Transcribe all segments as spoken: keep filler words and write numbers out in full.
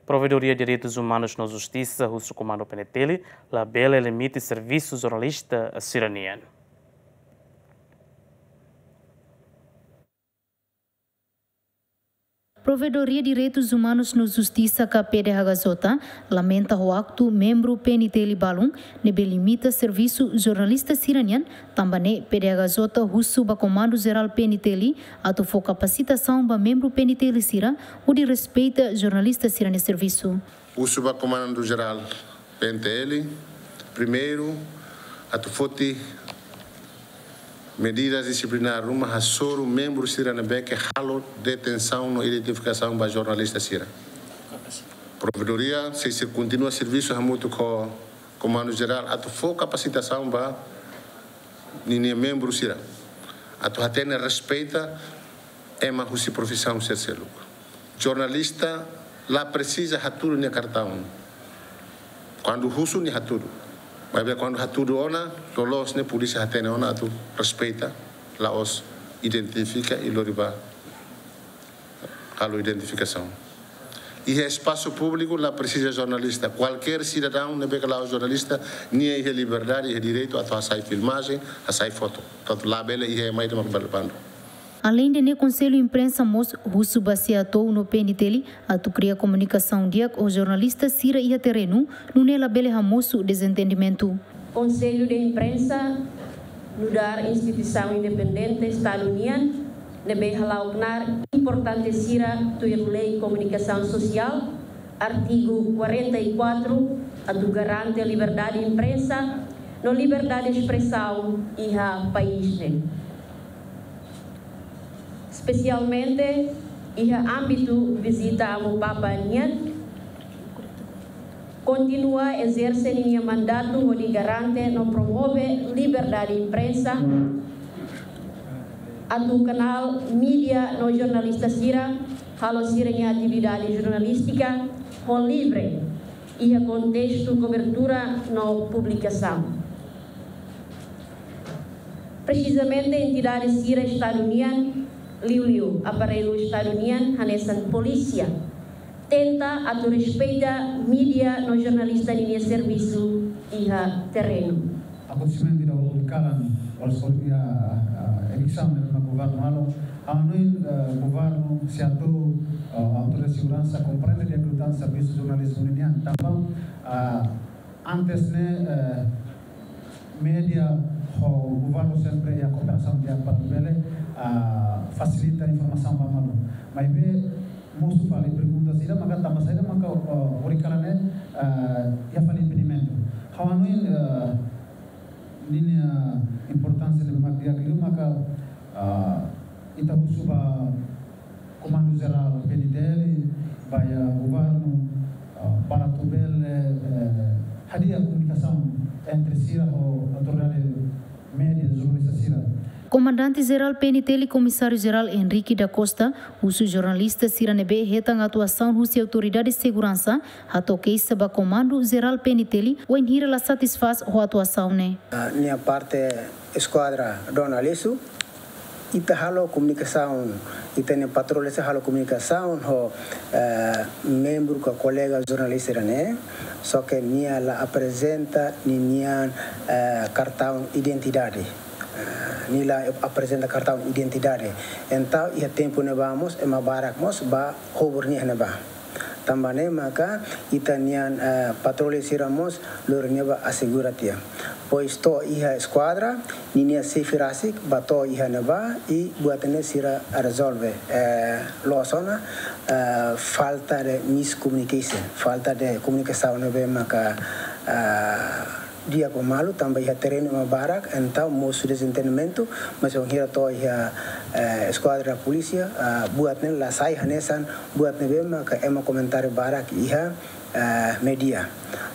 Provedoria Direitus Umanus no Justisa husu Komandu P N T L labele limita servisu jornalista sira-nian. Provedoria Direitus Umanus no Justisa ka P D H J lamenta ho aktu membru P N T L balun ne'ebé limita servisu jornalista sira-nian. Tanba ne'e P D H J husu ba Komandu Jerál P N T L atu fó kapasitasaun ba membru P N T L sira hodi respeita jornalista sira-nia servisu. Husu ba Komandu Jerál P N T L, primeiru, atu foti medidas disiplinár ruma hasoru membru sira ne'ebé ke halo detensaun no identifikasaun ba jornalista sira. Provedoria sei, sei kontinua servisu hamutuk ho Komandu Jerál atu fó kapasitasaun ba ninia membru sira atu hatene respeita ema husi profisaun sira seluk. Jornalista la presiza hatudu nia kartaun. Kuandu husu nia hatudu. Maibé kuandu hatudu ona, loloos ne'e polísia hatene ona atu respeita, la'ós identifika i lori ba halo identifikasaun. Iha espasu públiku la presiza jornalista. Kualkér sidadaun ne'ebé ke la'ós jornalista, nia iha liberdade, iha direitu atu hasai filmajen, hasai foto. Portantu labele iha ema ida mak bele bandu. Aleinde ne'e, Konsellu Imprensa mós husu ba C E A T O U no P N T L atu kria komunikasaun di'ak ho jornalista sira iha terrenu, nune'e labele hamosu dezentendimentu. Konsellu de Imprensa nu'udar instituisaun independente Estadu nian, ne'ebé hala'o knaar importante sira tuir Lei Komunikasaun Sosiál, artigu quarenta e quatro, atu garante liberdade imprensa no liberdade espresaun iha país ne'e. Espesialmente iha ámbitu vizita Amu Papa nian, kontinua ezerse ninia mandatu hodi garante no promove liberdade imprensa, atu kanál mídia no jornalista sira halo sira-nia atividade jornalístika ho livre iha kontestu kobertura no publikasaun. Presizamente entidade sira Estadu nian, liuliu aparellu Estadu nian hanesan polísia, tenta atu respeita mídia no jornalista ninia servisu iha terrenu. Akontesimentu ida ohin kalan, oras ohin iha, ah, eviksaun ne'ebé mak governu halo, ha'u hanoin, eh, governu, C E A T O U, eh, autoridade seguransa komprende di'ak liután servisu jornalizmu nian. Tanba, ah, antes ne'e, eh, mídia ho governu sempre iha kooperasaun di'ak para bele, ah, fasilita informasaun ba malu. Maibé mosu fali pergunta sira maka tanba saida maka, ah, ohin kalan ne'e, ah, iha fali impedimentu. Ha'u hanoin, ah, ninia importánsia ne'ebé mak di'ak liu maka, ah, ita husu ba Komandu Jerál P N T L, ba iha governu, ah, para atu bele, eh, hadi'a komunikasaun entre sira ho autoridade mídia, jornalista sira. Komandante Jerál P N T L, Komisáriu Jerál Henrique da Costa, husu jornalista sira ne'ebé hetan atuasaun husi autoridade seguransa hato'o keixa ba Komandu Jerál P N T L wainhira la satisfás ho atuasaun ne'e. Ah, nia parte eskuadra Dona Lesu, ita halo komunikasaun, ita-nia patrulla sira halo komunikasaun ho, eh, membru ka kolega jornalista sira-ne'e, só ke nia la aprezenta ninian, eh, kartaun identidade. Eh, nia la aprezenta kartaun identidade. Entaun, iha tempu ne'ebá mós, ema barak mós bá hobur nia iha ne'ebá. Tanba ne'e maka ita-nian, eh, patrulla sira mós lori nia bá asegura tiha. Depois to'o iha eskuadra, ninia xefe rasik bá to'o iha ne'ebá i buat ne'e sira rezolve. Eh, loos ona, eh, falta de miscommunication, falta de komunikasaun ne'ebé maka, eh, di'ak ba malu, tanba iha terrenu ema barak, entaun mosu dezentendimentu, mas wainhira to'o iha, eh, eskuadra polísia, ah, buat ne'e la sai hanesan buat ne'ebé maka ema komentáriu barak iha, eh, mídia.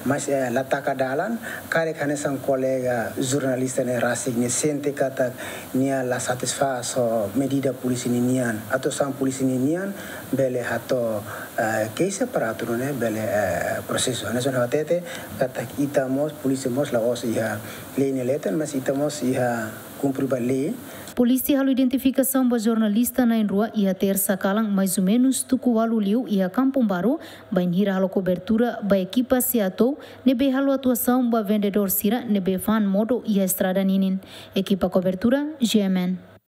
Mas, eh, la taka dalan, karik hanesan kolega jornalista ne'e rasik ne'e sente katak nia la satisfás ho medida polísia ninian, atuasaun polísia ninian, bele hato'o, eh, keixa para atu nune'e bele, eh, prosesu. Hanesan ha'u hatete, katak ita mós, polísia mós la'ós iha lei nia leten, mas ita mós iha kumpre ba lei, Polísia halo identifikasaun ba jornalista na'in rua iha Tersa kalan, mais ou menus tuku ualu liu, iha Kampung Baru, bainhira halo kobertura ba ekipa SEATOU ne'ebé halo atuasaun ba vendedór sira ne'ebé fa'an modo iha estrada ninin. Ekipa kobertura, G M N.